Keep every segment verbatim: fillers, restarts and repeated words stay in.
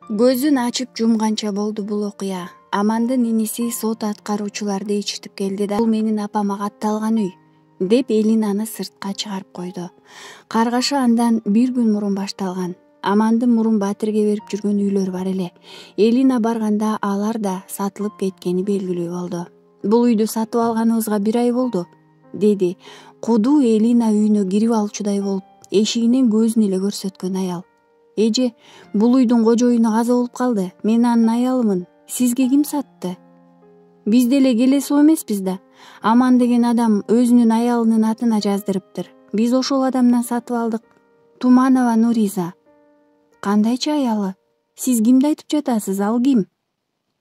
Көзүн ачып жумганча болду бул окуя. Амандын иниси сот аткаруучуларды ичтип келди да, бул менин апама катталган үй деп Элинаны сыртка чыгарып койду. Каргаша андан бир күн мурун башталган. Амандын мурун батирге берип жүргөн үйлөр бар эле. Элина барганда алар да сатылып кеткени белгилүү болду. Бул үйдү сатып алганыбызга бир ай болду, деди. Кудуу Элина үйүнө кирип алчудай болуп, эшигинен көзүн эле көрсөткөн аял. Эже, бул үйдүн кожоюну каза болуп калды. Мен анын аялымын. Сизге ким сатты? Биз деле келесип эмеспиз да. Аман деген адам өзүнүн аялынын атына жаздырыптыр. Биз ошол адамдан сатып алдык. Туманова Нуриза. Кандайча аялы? Сиз кимди айтып жатасыз? Ал ким?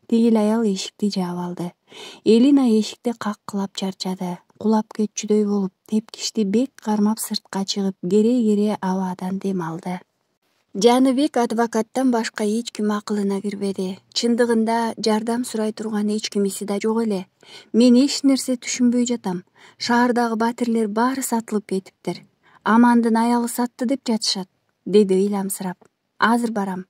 Тигил аял эшикти жаап алды. Элина эшикти каккылап чарчады. Кулап кетчүдөй болуп, тепкичти бек кармап сыртка чыгып, кере-кере абадан дем алды. Жаныбек адвокаттан башка эч ким акылына кирбеди. Чындыгында жардам сурай турган эч кимиси да жок эле. Мен эч нерсе түшүнбөй жатам. Шаардагы батирлер баары сатылып кетиптир. Амандын аялы сатты деп жатышат, деди ыйламсырап. Азыр барам.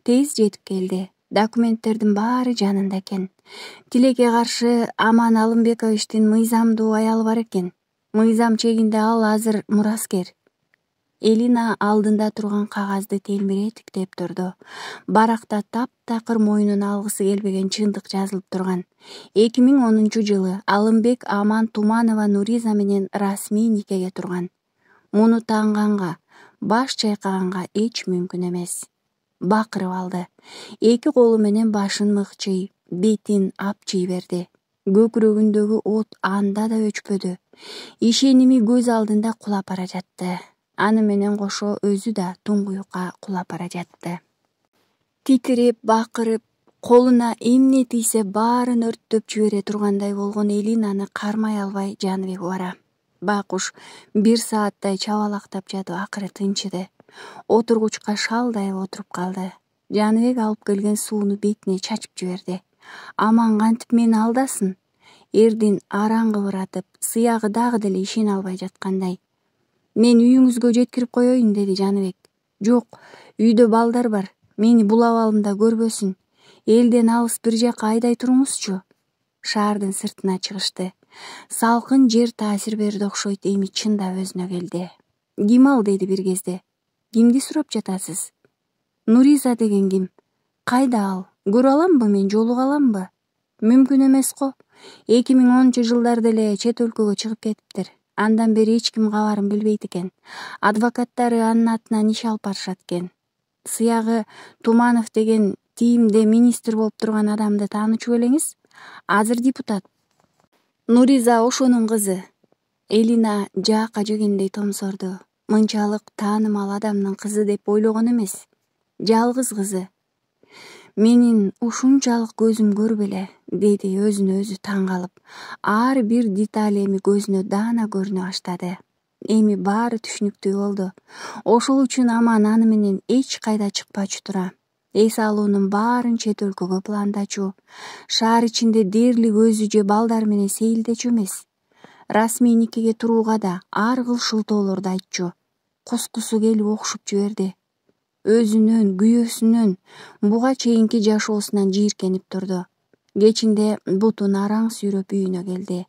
Тез жетип келди. Документтердин баары жанында экен. Тилекке каршы Аман Алымбековичтин мыйзамдуу аялы бар экен. Мыйзам чегинде ал азыр мураскер. Элина алдында турган кагазды телмире тиктеп турду. Баракта таптакыр мойнуна алгысы келбеген чындык жазылып турган. эки миң онунчу жылы Алымбек Аман Туманова Нуриза менен расмий никеге турган. Муну таанганга, баш чайкаганга эч мүмкүн эмес. Бакырып алды. Эки колу менен башын мыкчый, бетин апчый берди. Көкүрөгүндөгү от анда да өчпөдү. Ишеними көз алдында кулап бара жатты. Аны менен кошо өзү да туңгуюкка кулап бара жатты. Титиреп, бакырып, колуна эмне тийсе баарын өрттөп жибере тургандай болгон Элинаны кармай албай Жаныбек бара. Байкуш бир сааттай чабалактап жатып акыры тынчыды. Отургучка шалдайып отуруп калды. Жаныбек алып келген сууну бетине чачып жиберди. Аман кантип мени алдасын? Эрдин араң кыбыратып, сыягы дагы деле ишене албай жаткандай. Мен үйүңүзгө жеткирип коеюн, деди Жаныбек. Жок, үйдө балдар бар. Мени бул абалымда көрбөсүн. Элден алыс бир жакка айдай туруңузчу. Шаардын сыртына чыгышты. Салкын жер таасир берди окшойт, эми чындап өзүнө келди. Ким ал, деди бир кезде. Кимди сурап жатасыз? Нуриза деген ким? Кайда ал? Көрө аламбы, мен жолуга аламбы? Мүмкүн эмес го. эки миң онунчу жылдарда эле чет өлкөгө чыгып кетиптир. Андан бери эч ким кабарын билбейт экен. Адвокаттары анын атынан иш алып барышат экен. Сыягы Туманов деген ТИИМде министр болуп турган адамды таанычу белеңиз? Азыр депутат. Нуриза ошонун кызы. Элина жаакка жегендей томсорду. Мынчалык таанымал адамдын кызы деп ойлогон эмес. Жалгыз кызы. Менин ушунчалык көзүм көрбөлө, деди өзүнө өзү таң калып. Ар бир деталь эми көзүнө даана көрүнө баштады. Эми баары түшүнүктүү болду. Ошол үчүн Аман аны менен эч кайда чыкпачу тура. Эс алуунун баарын чет өлкөгө пландачу. Шаар ичинде дээрлик өзү же балдар менен сейилдечү эмес. Расмий никеге турууга да ар кыл шылтоолорду айтчу. Кускусу келип окшуп жиберди. Өзүнөн, күйөөсүнөн, буга чейинки жашоосунан жийиркенип турду. Кечинде бутун араң сүйрөп үйүнө келди.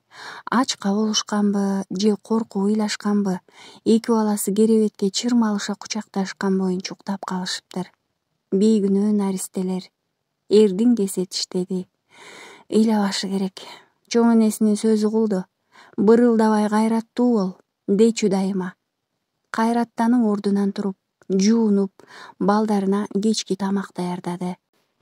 Ачка болушканбы же коркуп ыйлашканбы, эки баласы керебетке чырмалыша кучакташкан боюнча уктап калышыптыр. Бейгүнөө наристелер. Эрдин кесетиштеди. Ыйлабашы керек. Чоң энесинин сөзү кулду. Бырылдабай кайраттуу бол, дечү дайыма. Кайраттанып ордунан туруп, жуунуп, балдарына кечки тамак даярдады.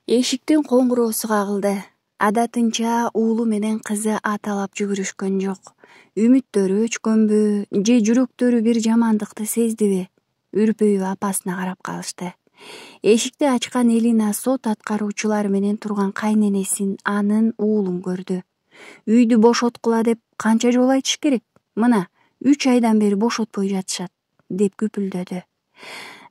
Эшиктин коңгуроосу кагылды. Адатынча уулу менен кызы аталап жүгүрүшкөн жок. Үмүттөрү өчкөнбү же жүрөктөрү бир жамандыкты сездиби? Үрпөйүп апасына карап калышты. Эшикти ачкан Элина сот аткаруучулары менен турган кайненесин, анын уулун көрдү. Үйдү бошоткула деп канча жолу айтыш керек? Мына, үч айдан бери бошотпой жатышат, деп күпүлдөдү.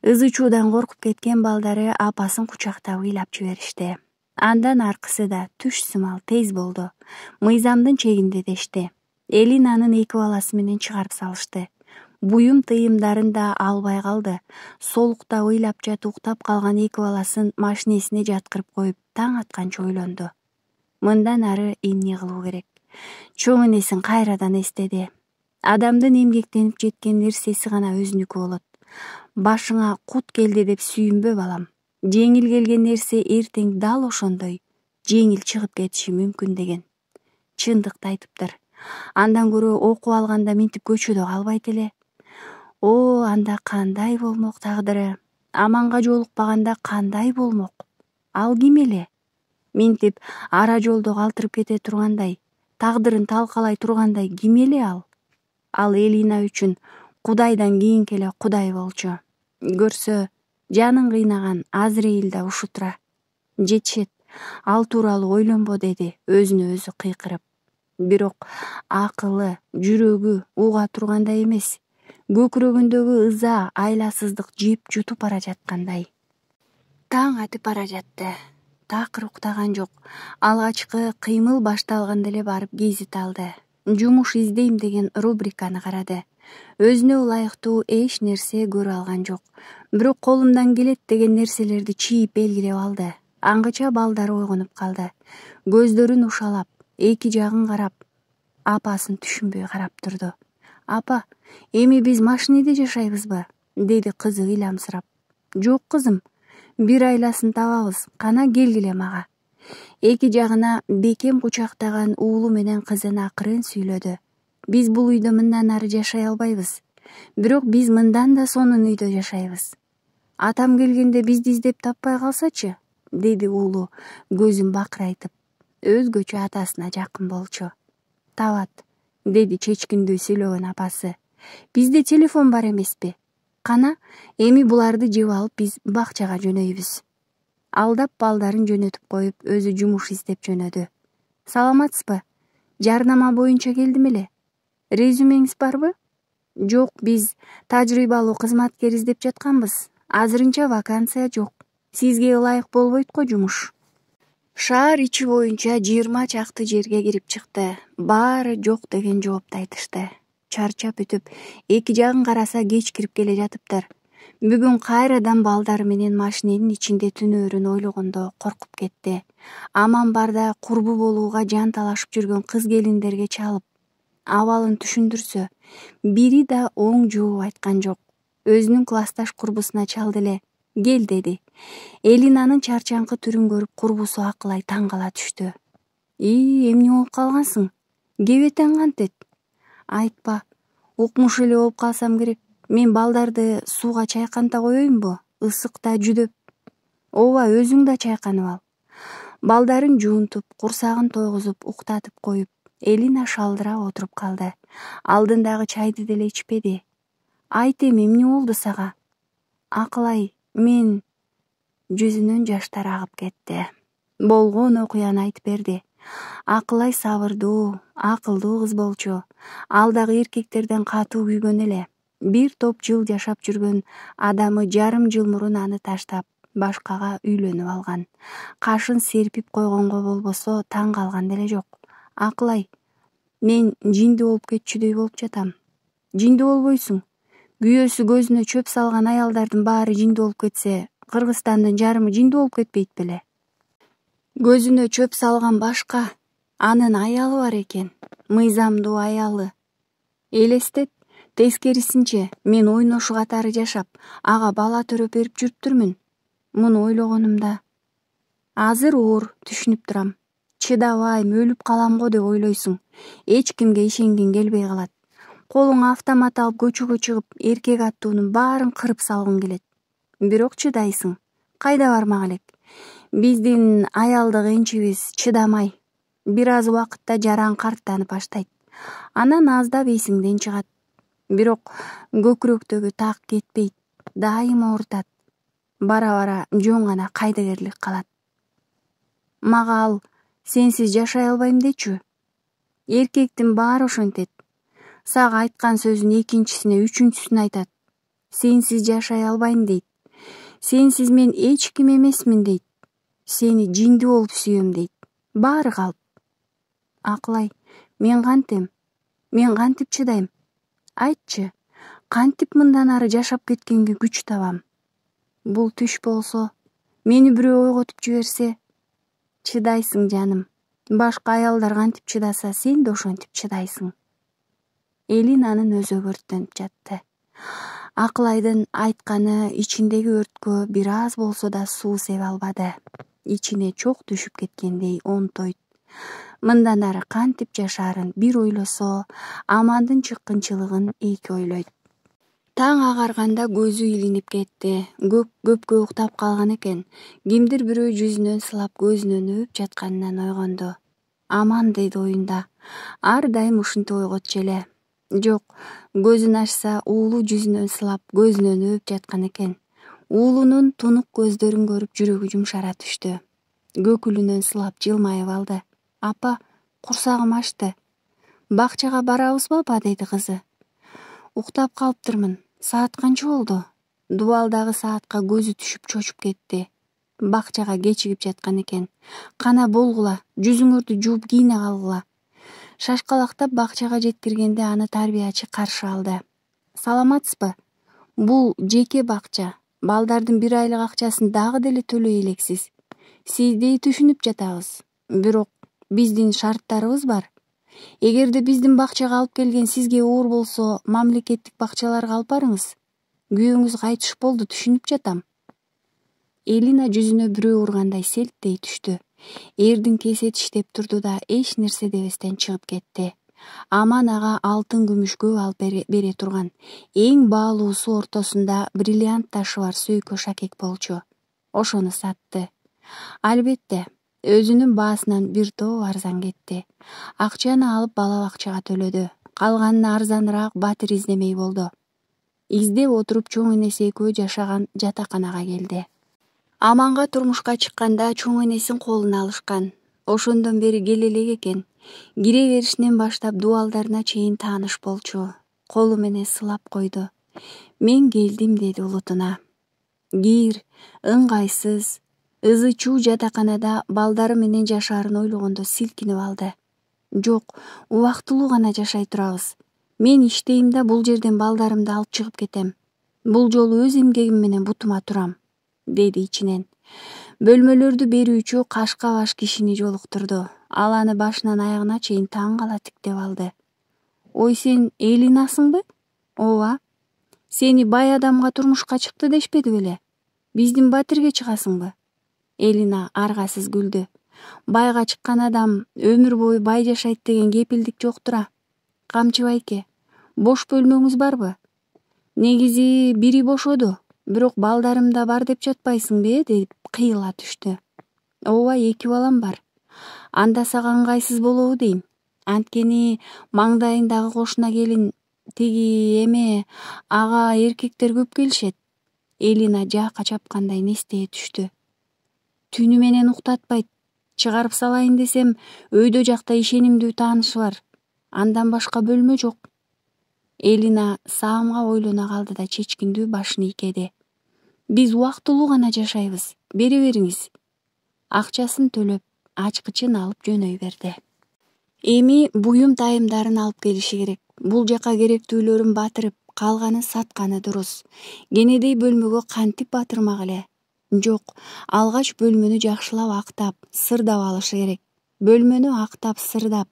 Ызы чуудан коркуп кеткен балдары апасын кучактап ыйлап жиберишти. Андан аркысы да түш сымал тез болду. Мыйзамдын чегинде дешти. Элинанын эки баласы менен чыгарып салышты. буюм тыйымдарын да албай калды. Солукта ыйлап жатып уктап калган эки баласын машинесине жаткырып коюп таң атканча ойлонду. Мындан ары эмне кылуу керек? Чоң энесин кайрадан эстеди. Адамдын эмгектенип жеткен нерсеси гана өзүнүкү болот. Башыңа кут келди деп сүйүнбө, балам. Жеңил келген нерсе эртең дал ошондой жеңил чыгып кетиши мүмкүн деген. Чындыкты айтыптыр. Андан көрө окуп алганда минтип көчөдө калбайт эле. О, анда кандай болмок тагдыры? Аманга жолукпаганда кандай болмок? Ал ким эле? Минтип ара жолдо калтырып кете тургандай, тагдырын талкалай тургандай ким эле ал? Ал Элина үчүн Кудайдан кийинки эле Кудай болчу. Көрсө, жанын кыйнаган Азраил да ушу тура. Жетишет, ал тууралуу ойлонбо, деди өзүнө өзү кыйкырып. Бирок акылы, жүрөгү уга тургандай эмес. Көкүрөгүндөгү ыза, айласыздык жеп жутуп бара жаткандай. Таң атып бара жатты. Такыр уктаган жок. Алгачкы кыймыл башталганда эле барып гезит алды. Жумуш издейм деген рубриканы карады. Өзүнө ылайыктуу эч нерсе көрө алган жок. Бирок колумдан келет деген нерселерди чийип белгилеп алды. Аңгыча балдары ойгонуп калды. Көздөрүн ушалап, эки жагын карап, апасын түшүнбөй карап турду. Апа, эми биз машинеде жашайбызбы? Деди кызы ыйламсырап. Жок кызым, бир айласын табабыз, кана келгиле мага. Эки жагына бекем кучактаган уулу менен кызын акырын сүйлөдү. Биз бул үйдө мындан ары жашай албайбыз. Бирок биз мындан да сонун үйдө жашайбыз. Атам келгенде бизди издеп таппай калсачы? Деди уулу көзүн бакырайтып. Өзгөчө атасына жакын болчу. Табат, деди чечкиндүү сүйлөгөн апасы. Бизде телефон бар эмеспи? Кана, эми буларды жеп алып биз бакчага жөнөйбүз. Алдап балдарын жөнөтүп коюп, өзү жумуш издеп жөнөдү. Саламатсызбы? Жарнама боюнча келдим эле. Резюмеңиз барбы? Жок, биз тажрыйбалуу кызматкер издеп жатканбыз. Азырынча вакансия жок. Сизге ылайык болбойт го жумуш. Шаар ичи боюнча жыйырма чакты жерге кирип чыкты. Баары жок деген жоопду айтышты. Чарчап бүтүп, эки жагын караса кеч кирип келе жатыптыр. Бүгүн кайрадан балдары менен машиненин ичинде түнөөрүн ойлогондо коркуп кетти. Аман барда курбу болууга жан талашып жүргөн кыз келиндерге чалып, абалын түшүндүрсө, бири да оң жооп айткан жок. Өзүнүн классташ курбусуна чалды эле. Кел, деди. Элинанын чарчаңкы түрүн көрүп курбусу Акылай таң кала түштү. И, эмне болуп калгансың? Кебетең кантет? Айтпа, укмуш эле болуп калсам керек. Мен балдарды сууга чайканта коеюнбу? Ысыкта жүдөп. Ооба, өзүң да чайканып ал. Балдарын жуунтуп, курсагын тойгузуп, уктатып коюп, Элина шалдырап отуруп калды. Алдындагы чайды деле ичпеди. Айт, эми эмне болду сага? Акылай, мен... Жүзүнөн жаштар агып кетти. Болгон окуяны айтып берди. Акылай сабырдуу, акылдуу кыз болчу. Ал дагы эркектерден катуу күйгөн эле. Бир топ жыл жашап жүргөн адамы жарым жыл мурун аны таштап, башкага үйлөнүп алган. Кашын серпип койгонго болбосо таң калган деле жок. Акылай, мен жиндүү болуп кетчүдөй болуп жатам. Жиндүү болбойсуң. Күйөөсү көзүнө чөп салган аялдардын баары жиндүү болуп кетсе, Кыргызстандын жарымы жиндүү болуп кетпейт беле? Көзүнө чөп салган башка, анын аялы бар экен, мыйзамдуу аялы. Элестет, тескерисинче, мен ойношу катары жашап, ага бала төрөп берип жүрүптүрмүн. Муну ойлогонумда азыр оор, түшүнүп турам. Чыдабайм, өлүп калам го деп ойлойсуң. Эч кимге ишенгиң келбей калат. Колуңа автомат алып көчөгө чыгып, эркек аттуунун баарын кырып салгың келет. Бирок чыдайсың. Кайда бармак элек? Биздин аялдык энчибиз чыдамай. Бир аз убакытта жаран карттанып баштайт. Анан аздап эсиңден чыгат. Бирок көкүрөктөгү так кетпейт, дайыма оорутат. Бара-бара жөн гана кайдыгерлик калат. Мага ал сенсиз жашай албайм дечү. Эркектин баары ошентет. Сага айткан сөзүн экинчисине, үчүнчүсүнө айтат. Сенсиз жашай албайм дейт. Сенсиз мен эч ким эмесмин дейт. Сени жиндүү болуп сүйөм дейт. Баары калп. Акылай, мен кантем? Мен кантип чыдайм? Айтчы, Кантип мындан ары жашап кеткенге күч табам? Бул түш болсо, мени бирөө ойготуп жиберсе? Чыдайсың жаным. Башка аялдар кантип чыдаса, сен да ошентип чыдайсың. Элинанын өзү өрттөнүп жатты. Акылайдын айтканы ичиндеги өрткө бир аз болсо да суу себе албады. Ичине чок түшүп кеткендей онтойт. Мындан ары кантип жашаарын бир ойлосо, Амандын чыккынчылыгын эки ойлойт. Таң агарганда көзү илинип кетти. Көп көпкө уктап калган экен. Кимдир бирөө жүзүнөн сылап көзүнөн өп жатканынан ойгонду. Аман деди оюнда. Ар дайым ушинтип ойготчу эле. Жок, көзүн ачса, уулу жүзүнөн сылап көзүнөн өп жаткан экен. Уулунун тунук көздөрүн көрүп жүрөгү жумшара түштү. Көкүлүнөн сылап жылмайып алды. Апа, курсагым ачты. Бакчага барабызбы апа, деди кызы. Уктап калыптырмын. Саат канча болду? Дубалдагы саатка көзү түшүп чочуп кетти. Бакчага кечигип жаткан экен. Кана болгула, жүзүңөрдү жууп кийине калгыла. Шашкалактап бакчага жеткиргенде аны тарбиячы каршы алды. Саламатсызбы? Бул жеке бакча. Балдардын бир айлык акчасын дагы деле төлөй элексиз. Сиздей түшүнүп жатабыз. Бирок биздин шарттарыбыз бар. Эгерде биздин бакчага алып келген сизге оор болсо, мамлекеттик бакчаларга алып барыңыз. Күйөөңүз кайтыш болду, түшүнүп жатам. Элина жүзүнө бирөө ургандай селттей түштү. Эрдин кесе тиштеп турду да эч нерсе дебестен чыгып кетти. Аман ага алтын күмүшкө алып бере турган эң баалуусу ортосунда бриллиант ташы бар сөйкө шакек болчу. Ошону сатты. Албетте, өзүнүн баасынан бир топ арзан кетти. Акчаны алып бала бакчага төлөдү. Калганын арзаныраак батир издемей болду. Издеп отуруп чоң энеси экөө жашаган жатаканага келди. Аманга турмушка чыкканда чоң энесин колуна алышкан. Ошондон бери келе элек экен. Кире беришинен баштап дубалдарына чейин тааныш болчу. Колу менен сылап койду. Мен келдим, деди улутуна. Кир, ыңгайсыз, ызы чуу жатаканада балдары менен жашаарын ойлогондо силкинип алды. Жок, убактылуу гана жашай турабыз. Мен иштейм да бул жерден балдарымды алып чыгып кетем. Бул жолу өз эмгегим менен бутума турам, деди ичинен. Бөлмөлөрдү берүүчү кашка баш кишини жолуктурду. Ал аны башынан аягына чейин таң кала тиктеп алды. Ой, сен Элинасыңбы? Ооба. Сени бай адамга турмушка чыкты дешпеди беле? Биздин батирге чыгасыңбы? Элина аргасыз күлдү. Байга чыккан адам өмүр бою бай жашайт деген кепилдик жоктура. Камчы байке, бош бөлмөңүз барбы? Негизи бири бошоду, бирок балдарым да бар деп жатпайсыңбы, деп кыйыла түштү. Ооба, эки балам бар. Анда сага ыңгайсыз болобу дейм. Анткени маңдайындагы кошуна келин тиги эме ага эркектер көп келишет. Элина жаакка чапкандай нестее түштү. Түнү менен уктатпайт. Чыгарып салайын десем, өйдө жакта ишенимдүү таанышы бар. Андан башка бөлмө жок. Элина саамга ойлоно калды да чечкиндүү башын ийкеди. Биз убактылуу гана жашайбыз. Бере бериңиз. Акчасын төлөп, ачкычын алып жөнөй берди. Эми буюм тайымдарын алып келиши керек. Бул жака керектүүлөрүн батырып, калганын сатканы дурус. Кенедей бөлмөгө кантип батырмак эле? Жок, алгач бөлмөнү жакшылап актап, сырдап алышы керек. Бөлмөнү актап, сырдап,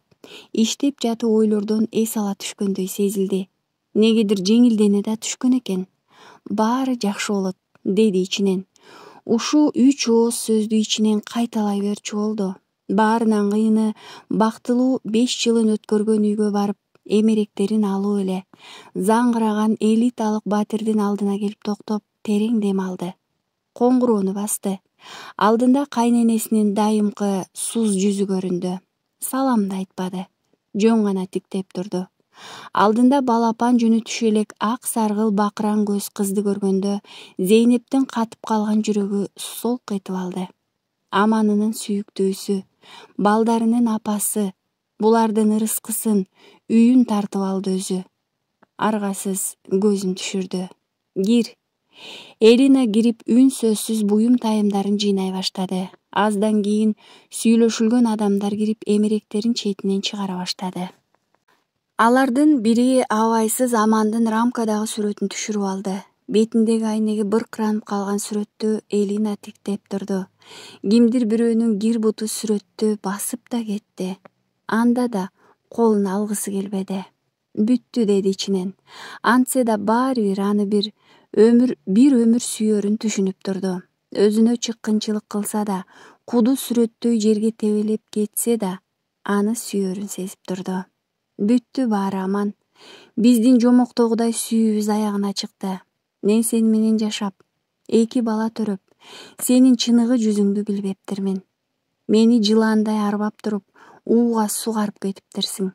иштеп жатып ойлордон эс ала түшкөндөй сезилди. Негедир жеңилдене да түшкөн экен. Баары жакшы болот, деди ичинен. Ушу үч ооз сөздү ичинен кайталай берчү болду. Баарынан кыйыны бактылуу беш жылын өткөргөн үйгө барып, эмеректерин алуу эле. Заңгыраган элиталык батирдин алдына келип токтоп, терең дем алды. Коңгуроону басты. Алдында кайненесинин дайымкы суз жүзү көрүндү. Салам да айтпады. Жөн гана тиктеп турду. Алдында балапан жүнү түшө элек ак саргыл бакыран көз кызды көргөндө Зейнептин катып калган жүрөгү солк этип алды. Аманынын сүйүктүүсү, балдарынын апасы, булардын ырыскысын, үйүн тартып алды өзү. Аргасыз көзүн түшүрдү. Кир. Элина кирип үн сөзсүз буюм тайымдарын жыйнай баштады. Аздан кийин сүйлөшүлгөн адамдар кирип эмеректерин четинен чыгара баштады. Алардын бири абайсыз Амандын рамкадагы сүрөтүн түшүрүп алды. Бетиндеги айнеги быркыранып калган сүрөттү Элина тиктеп турду. Кимдир бирөөнүн кир буту сүрөттү басып да кетти. Анда да колун алгысы келбеди. Бүттү деди ичинен. Антсе да баары бир аны бир өмүр бир өмүр сүйөрүн түшүнүп турду. Өзүнө чыккынчылык кылса да, куду сүрөттөй жерге тебелеп кетсе да, аны сүйөрүн сезип турду. Бүттү баары аман. Биздин жомоктогудай сүйүүбүз аягына чыкты. Мен сени менен жашап, эки бала төрөп, сенин чыныгы жүзүңдү билбептирмин. Мени жылаандай арбап туруп, ууга сугарып кетиптирсиң.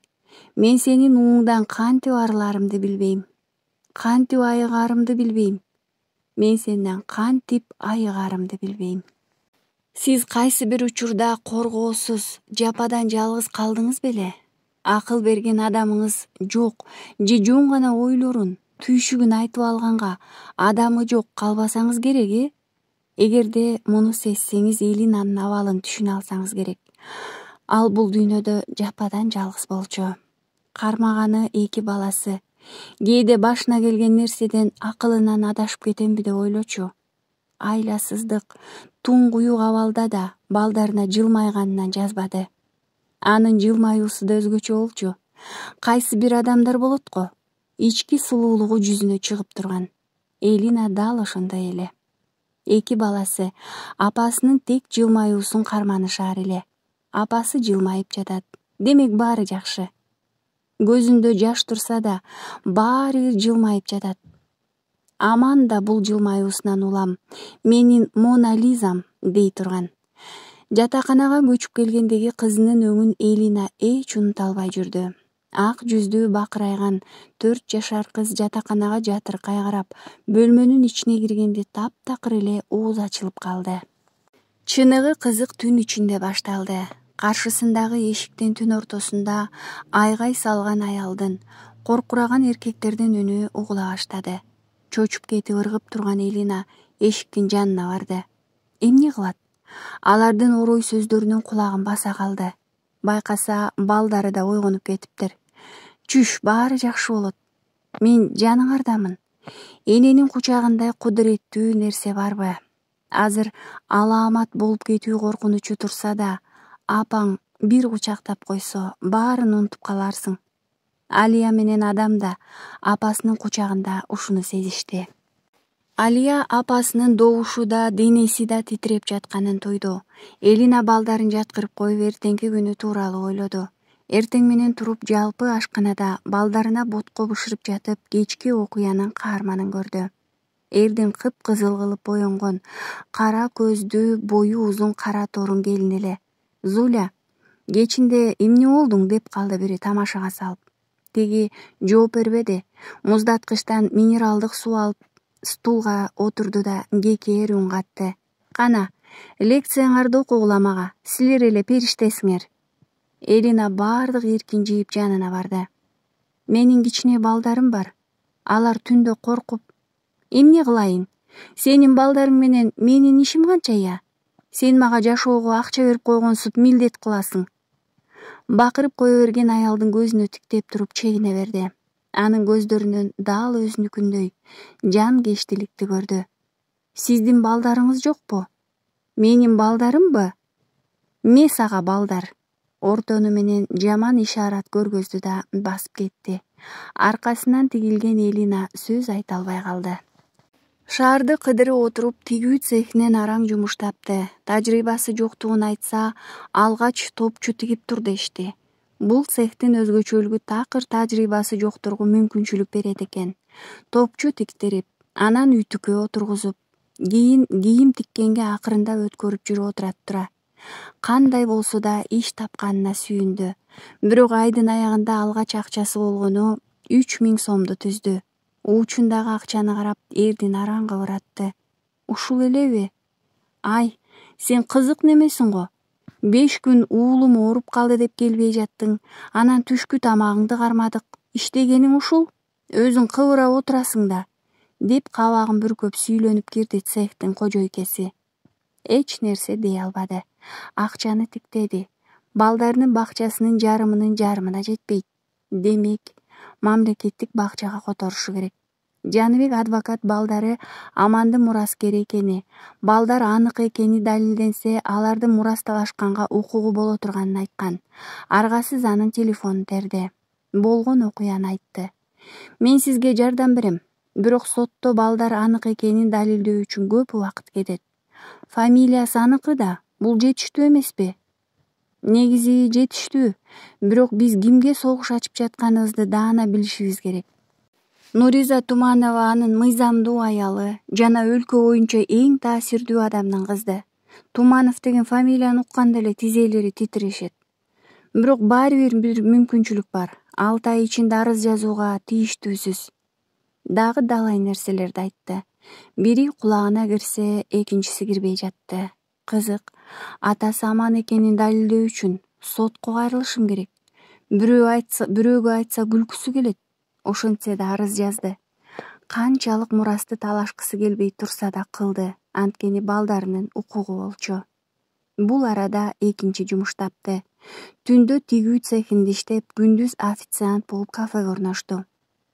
Мен сенин ууңдан кантип арыларымды билбейм. Кантип айыгаарымды билбейм. Мен сенден кантип айыгаарымды билбейм. Сиз кайсы бир учурда коргоосуз, жападан жалгыз калдыңыз беле? Акыл берген адамыңыз жок же жөн гана ойлорун, түйшүгүн айтып алганга адамы жок калбасаңыз керек, э? Эгерде муну сезсеңиз, Элинанын абалын түшүнө алсаңыз керек. Ал бул дүйнөдө жападан жалгыз болчу. Кармаганы эки баласы. Кээде башына келген нерседен акылынан адашып кетемби деп ойлочу. Айласыздык, туңгуюк абалда да балдарына жылмайганынан жазбады. Анын жылмаюусу да өзгөчө болчу. Кайсы бир адамдар болот го, ички сулуулугу жүзүнө чыгып турган. Элина дал ошондой эле. Эки баласы апасынын тек жылмаюусун карманышаар эле. Апасы жылмайып жатат. Демек баары жакшы. Көзүндө жаш турса да, баары бир жылмайып жатат. Аман да бул жылмаюусунан улам, менин Мона Лизам дей турган. Жатаканага көчүп келгендеги кызынын өңүн Элина эч унута албай жүрдү. Ак жүздүү бакырайган төрт жашар кыз жатаканага жатыркай карап, бөлмөнүн ичине киргенде таптакыр эле ооз ачылып калды. Чыныгы кызык түн ичинде башталды. Каршысындагы эшиктин түн ортосунда айгай салган аялдын, коркураган эркектердин үнү угула баштады. Чочуп кетип ыргып турган Элина эшиктин жанына барды. Эмне кылат? Алардын орой сөздөрүнөн кулагын баса калды. Байкаса, балдары да ойгонуп кетиптир. Чүш, баары жакшы болот. Мен жаныңардамын. Эненин кучагындай кудуреттүү нерсе барбы? Азыр алаамат болуп кетүү коркунучу турса да, апаң бир кучактап койсо, баарын унутуп каларсың. Алия менен адам да апасынын кучагында ушуну сезишти. Алия апасынын добушу да, денеси да титиреп жатканын тойду. Элина балдарын жаткырып коюп, эртеңки күнү тууралуу ойлоду. Эртең менен туруп, жалпы ашканада балдарына ботко бышырып жатып, кечки окуянын каарманын көрдү. Эрдин кыпкызыл кылып боенгон, кара көздүү, бою узун кара торун келин эле. Зуля, кечинде эмне болдуң деп калды бири тамашага салып. Тиги жооп бербеди. Муздаткычтан минералдык суу алып, стулга отурду да кекээр үн катты. Кана, лекцияңарды окугула мага, силер эле периштесиңер. Элина баардык эркин жийип жанына барды. Менин кичине балдарым бар. Алар түндө коркуп, эмне кылайын? Сенин балдарың менен менин ишим канчая? Сен мага жашоого акча берип койгонсуп милдет кыласың. Бакырып кое берген аялдын көзүнө тиктеп туруп чегине берди. Анын көздөрүнөн дал өзүнүкүндөй жанкечтиликти көрдү. Сиздин балдарыңыз жокпу? Менин балдарымбы? Ме сага балдар. Ортону менен жаман ишарат көргөздү да басып кетти. Аркасынан тигилген Элина сөз айта албай калды. Шаарды кыдырып отуруп, тигүү цехинен араң жумуштапты. Тажрыйбасы жоктугун айтса, алгач топчу тигип тур дешти. Бул цехтин өзгөчөлүгү такыр тажрыйбасы жокторго мүмкүнчүлүк берет экен. Топчу тиктирип, анан үтүккө отургузуп, кийин кийим тиккенге акырында өткөрүп жүрүп отурат тура. Кандай болсо да иш тапканына сүйүндү. Бирок айдын аягында алгач акчасы болгону үч миң сомду түздү. Учундагы акчаны карап, эрдин араң кыбыратты. Ушул элеби? Ай, сен кызык немесиң го. Беш күн уулум ооруп калды деп келбей жаттың. Анан түшкү тамагыңды кармадык. Иштегениң ушул? Өзүң кыбырап отурасың да. Деп кабагын бүркөп сүйлөнүп кирди цехтин кожойкеси. Эч нерсе дей албады. Акчаны тиктеди. Балдарынын бакчасынын жарымынын жарымына жетпейт. демек мамлекеттик бакчага которушу керек. Жаныбек адвокат балдары Амандын мураскери экени, балдар анык экени далилденсе, алардын мурасталашканга укугу боло турганын айткан. Аргасыз анын телефонун терди. Болгон окуяны айтты. Мен сизге жардам берем, бирок сотто балдар анык экенин далилдөө үчүн көп убакыт кетет. Фамилиясы аныкы да, бул жетиштүү эмеспи? Негизи жетиштүү, бирок биз кимге согуш ачып жатканыбызды даана билишибиз керек. Нуриза Туманова анын мыйзамдуу аялы жана өлкө боюнча эң таасирдүү адамдын кызы. Туманов деген фамилияны укканда эле тизелери титирешет. Бирок баары бир бир мүмкүнчүлүк бар. алты ай ичинде арыз жазууга тийиштүүсүз. Дагы далай нерселерди айтты. Бири кулагына кирсе, экинчиси кирбей жатты. Кызык, атасы аман экенин далилдөө үчүн сотко кайрылышым керек. Бирөө айтса, бирөөгө айтса күлкүсү келет. Ошентсе да арыз жазды. Канчалык мурасты талашкысы келбей турса да кылды, анткени балдарынын укугу болчу. Бул арада экинчи жумуш тапты. Түндө тигүү цехинде иштеп, күндүз официант болуп кафеге орношту.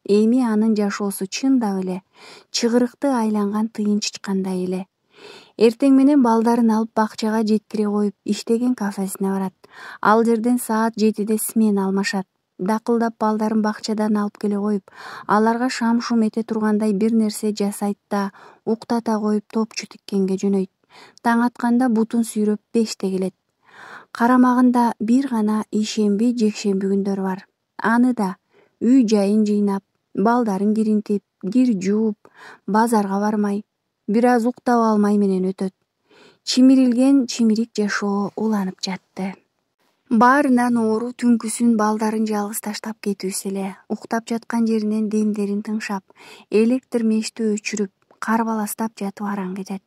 Эми анын жашоосу чындап эле чыгырыкты айланган тыйынчычкандай эле. Эртең менен балдарын алып бакчага жеткире коюп, иштеген кафесине барат. Ал жерден саат жетиде смена алмашат. Дакылдап балдарын бакчадан алып келе коюп, аларга шам-шум эте тургандай бир нерсе жасайт да, уктата коюп топчу тиккенге жөнөйт. Таң атканда бутун сүйрөп беште келет. Карамагында бир гана ишемби, жекшемби күндөрү бар. Аны да үй жайын жыйнап, балдарын киринтип, кир жууп, базарга бармай, бир аз уктап алмай менен өтөт. Чимирилген чимирик жашоо уланып жатты. Баарынан оору түнкүсүн балдарын жалгыз таштап кетүүсү эле. Уктап жаткан жеринен демдерин тыңшап, электр мешти өчүрүп, карбаластап жатып араң кетет.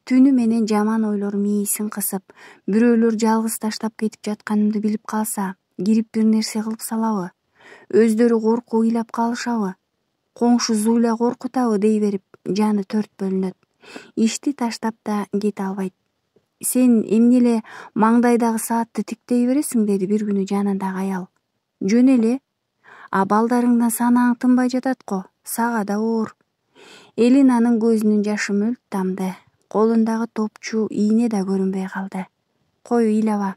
Түнү менен жаман ойлор мээсин кысып, бирөөлөр жалгыз таштап кетип жатканымды билип калса, кирип бир нерсе кылып салабы? Өздөрү коркуп ыйлап калышабы? Коңшу Зуля коркутабы дей берип, жаны төрт бөлүнөт. Ишти таштап да кете албайт. Сен эмне эле маңдайдагы саатты тиктей бересиң, деди бир күнү жанындагы аял. Жөн эле. А балдарыңдан санаң тынбай жатат го, сага да оор. Элинанын көзүнүн жашы мөлт тамды. Колундагы топчу ийне да көрүнбөй калды. Кой ыйлаба.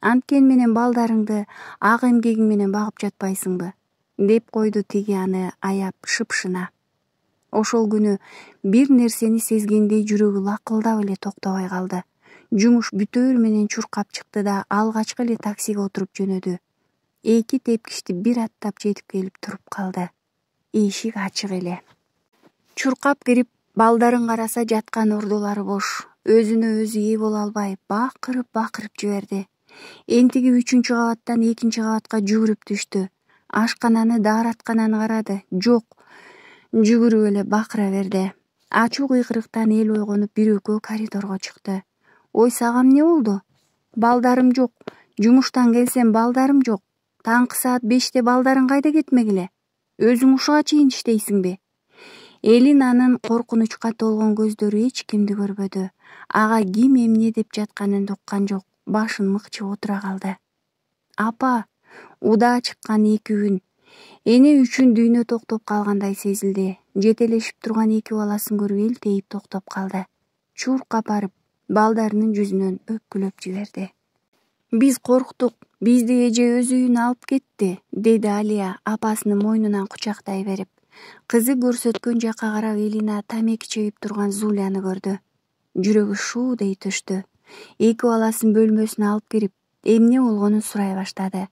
Анткен менен балдарыңды ак эмгегиң менен багып жатпайсыңбы? Деп койду тиги аны аяп шыпшына. Ошол күнү бир нерсени сезгендей жүрөгү лакылдап эле токтобой калды. Жумуш бүтөөр менен чуркап чыкты да алгачкы эле таксиге отуруп жөнөдү. Эки тепкичти бир аттап жетип келип туруп калды. Эшик ачык эле. Чуркап кирип, балдарын караса жаткан ордолору бош. Өзүнө өзү ээ боло албай бакырып-бакырып жиберди. Энтиги үчүнчү кабаттан экинчи кабатка жүгүрүп түштү. Ашкананы, daarаткананы карады. Жок. Жүгүрүп эле бакыра берди. Ачуу кыйкырыктан эл ойгонуп бир экөө коридорго чыкты. Ой, сага эмне болду? Балдарым жок. Жумуштан келсем балдарым жок. Таңкы саат беште балдарың кайда кетмегиле? Өзүң ушуга чейин иштейсиңби? Элинанын коркунучка толгон көздөрү эч кимди көрбөдү. Ага ким эмне деп жатканын уккан жок. Башын мыкчып отура калды. Апа, удаа чыккан эки күн. Эне үчүн дүйнө токтоп калгандай сезилди. Жетелешип турган эки баласын көрүп элтейип токтоп калды. Чуркап барып, балдарынын жүзүнөн өпкүлөп жиберди. Биз корктук, бизди эже өз үйүнө алып кетти, деди Алия апасынын мойнунан кучактай берип. Кызы көрсөткөн жакка карап Элина тамеки чегип турган Зуляны көрдү. Жүрөгү шуудей түштү. Эки баласын бөлмөсүнө алып кирип, эмне болгонун сурай баштады.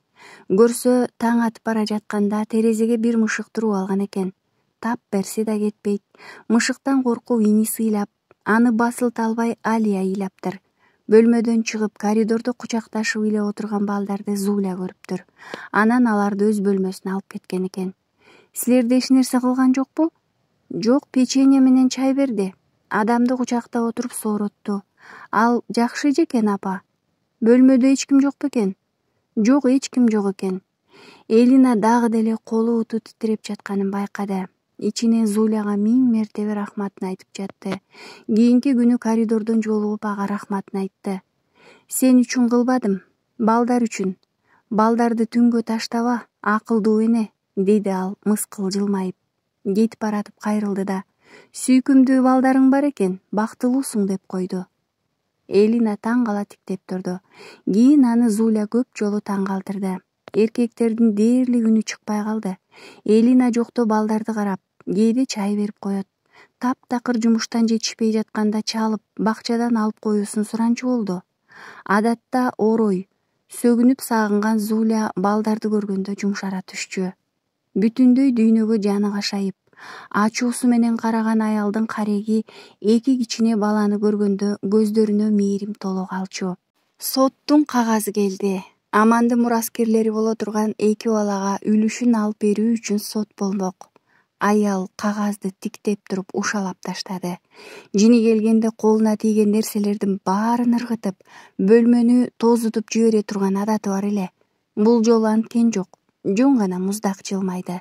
Көрсө, таң атып бара жатканда терезеге бир мышык туруп алган экен. Тап берсе да кетпейт. Мышыктан коркуп иниси ыйлап, аны басылта албай Алия ыйлаптыр. Бөлмөдөн чыгып, коридордо кучакташып эле отурган балдарды Зуля көрүптүр. Анан аларды өз бөлмөсүнө алып кеткен экен. Силерде эч нерсе кылган жокпу? Жок, печенье менен чай берди. Адамды кучактап отуруп сооротду. Ал жакшы эжекен, апа. Бөлмөдө эч ким жок бекен? Жок, эч ким жок экен. Элина дагы деле колу буту титиреп жатканын байкады. Ичинен Зуляга миң мертебе рахматын айтып жатты. Кийинки күнү коридордон жолугуп ага рахматын айтты. Сен үчүн кылбадым, балдар үчүн. Балдарды түнгө таштаба, Акылдуу эне, деди ал мыскыл жылмайып. Кетип баратып кайрылды да: Сүйкүмдүү балдарың бар экен, бактылуусуң деп койду. Элина таң кала тиктеп турду. Кийин аны Зуля көп жолу таң калтырды. Эркектердин дээрлик үнү чыкпай калды. Элина жокто балдарды карап, кээде чай берип коет. Таптакыр жумуштан жетишпей жатканда чалып, бакчадан алып коюусун суранчу болду. Адатта орой, сөгүнүп сагынган Зуля балдарды көргөндө жумшара түшчү. Бүтүндөй дүйнөгө жаны кашайып, ачуусу менен караган аялдын кареги эки кичине баланы көргөндө көздөрүнө мээрим толо калчу. Соттун кагазы келди. Амандын мураскерлери боло турган эки балага үлүшүн алып берүү үчүн сот болмок. Аял кагазды тиктеп туруп ушалап таштады. Жини келгенде колуна тийген нерселердин баарын ыргытып, бөлмөнү тозутуп жибере турган адаты бар эле. Бул жолу анткен жок. Жөн гана муздак жылмайды.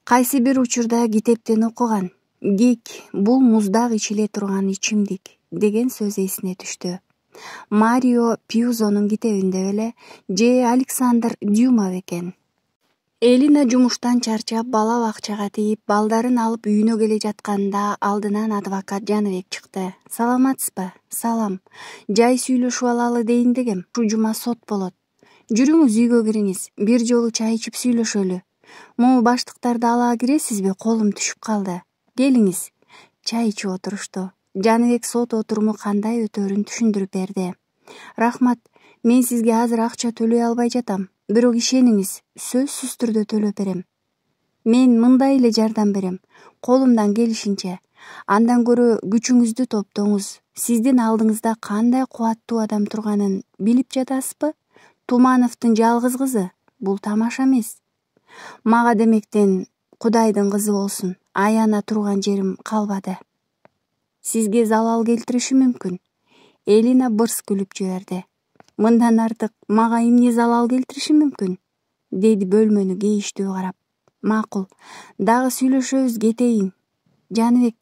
Кайсы бир учурда китептен окуган. Кек бул муздак ичиле турган ичимдик деген сөз эсине түштү. Марио Пьюзонун китебинде беле же Александр Дюма бекен. Элина жумуштан чарчап, бала бакчага тийип, балдарын алып үйүнө келе жатканда алдынан адвокат Жаныбек чыкты. Саламатсызбы? Салам. Жай сүйлөшүп алалы дейин дегем. Ушу жума сот болот. Жүрүңүз үйгө кириңиз, бир жолу чай ичип сүйлөшөлү. Могу баштыктарды ала киресизби? Колум түшүп калды. Келиңиз. Чай ичип отурушту. Жаныбек сот отуруму кандай өтөөрүн түшүндүрүп берди. Рахмат, мен сизге азыр акча төлөй албай жатам. Бирок ишениңиз, сөзсүз түрдө төлөп берем. Мен мындай эле жардам берем, колумдан келишинче. Андан көрө күчүңүздү топтоңуз. Сиздин алдыңызда кандай кубаттуу адам турганын билип жатасызбы? Тумановдун жалгыз кызы. Бул тамаша эмес. Мага демектен Кудайдын кызы болсун. Аяна турган жерим калбады. Сизге залал келтириши мүмкүн. Элина бырс күлүп жиберди. Мындан артык мага эмне залал келтириши мүмкүн? Деди бөлмөнү кейиштүү карап. Макул, дагы сүйлөшөбүз, кетейин. Жаныбек,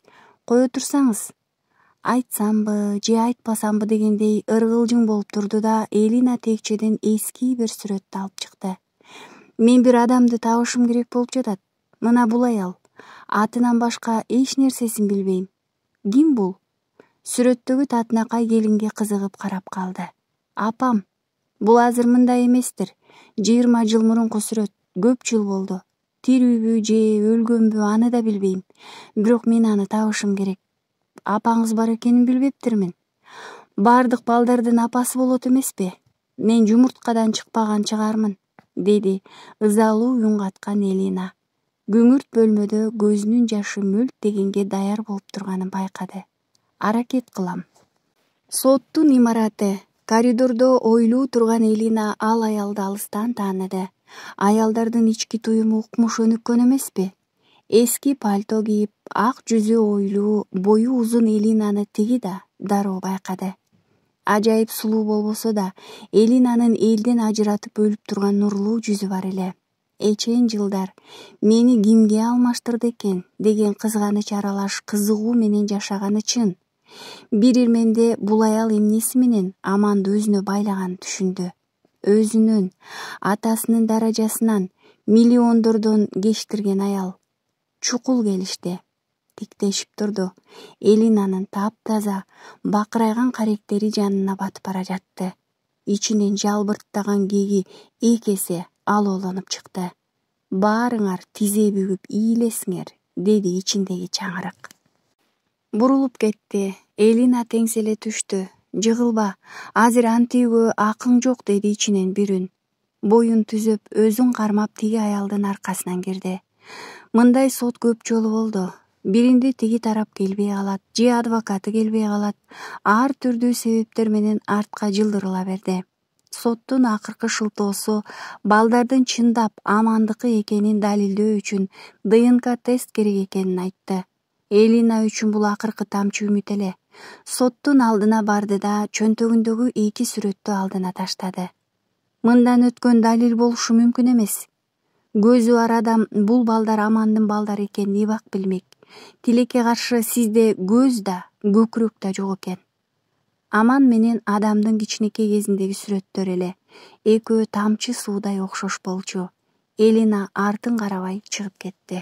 кое турсаңыз. Айтсамбы же айтпасамбы дегендей ыргылжың болуп турду да Элина текчеден эски бир сүрөттү алып чыкты. Мен бир адамды табышым керек болуп жатат. Мына бул аял. Атынан башка эч нерсесин билбейм. Ким бул? Сүрөттөгү татынакай келинге кызыгып карап калды. Апам. Бул азыр мындай эместир. жыйырма жыл мурунку сүрөт. Көп жыл болду. Тирүүбү же өлгөнбү аны да билбейм. Бирок мен аны табышым керек. Апаңыз бар экенин билбептирмин. Бардык балдардын апасы болот эмеспи? Мен жумурткадан чыкпаган чыгармын, деди ызалуу үн каткан Элина. Күңүрт бөлмөдө көзүнүн жашы мөлт дегенге даяр болуп турганын байкады. Аракет кылам. Соттун имараты. Коридордо ойлуу турган Элина ал аялды алыстан тааныды. Аялдардын ички туюму укмуш өнүккөн эмеспи? Эски пальто кийип, ак жүзү ойлуу, бою узун Элинаны тиги да дароо байкады. Ажайып сулуу болбосо да, Элинанын элден ажыратып өлүп турган нурлуу жүзү бар эле. Эчен жылдар мени кимге алмаштырды экен деген кызганыч аралаш кызыгуу менен жашаганы чын. Бир ирменде бул аял эмнеси менен Аманды өзүнө байлаганын түшүндү. Өзүнөн, атасынын даражасынан, миллиондордон кечтирген аял. Чукул келишти. Тиктешип турду. Элинанын таптаза, бакырайган каректери жанына батып бара жатты. Ичинен жалбырттаган кеги эки эсе алоолонуп чыкты. Баарыңар тизе бүгүп ийлесиңер, деди ичиндеги чаңырык. Бурулуп кетти. Элина теңселе түштү. Жыгылба, азыр антиүүгө акың жок, деди ичинен бир үн. Боюн түзөп, өзүн кармап тиги аялдын аркасынан кирди. Мындай сот көп жолу болду. Биринде тиги тарап келбей калат, же адвокаты келбей калат. Ар түрдүү себептер менен артка жылдырыла берди. Соттун акыркы шылтоосу балдардын чындап Амандыкы экенин далилдөө үчүн ДНК тест керек экенин айтты. Элина үчүн бул акыркы тамчы үмүт эле. Соттун алдына барды да чөнтөгүндөгү эки сүрөттү алдына таштады. Мындан өткөн далил болушу мүмкүн эмес. Көзү бар адам бул балдар Амандын балдары экенин ибак билмек. Тилекке каршы сизде көз да, көкүрөк да жок экен. Аман менен адамдын кичинекей кезиндеги сүрөттөр эле. Экөө тамчы суудай окшош болчу. Элина артын карабай чыгып кетти.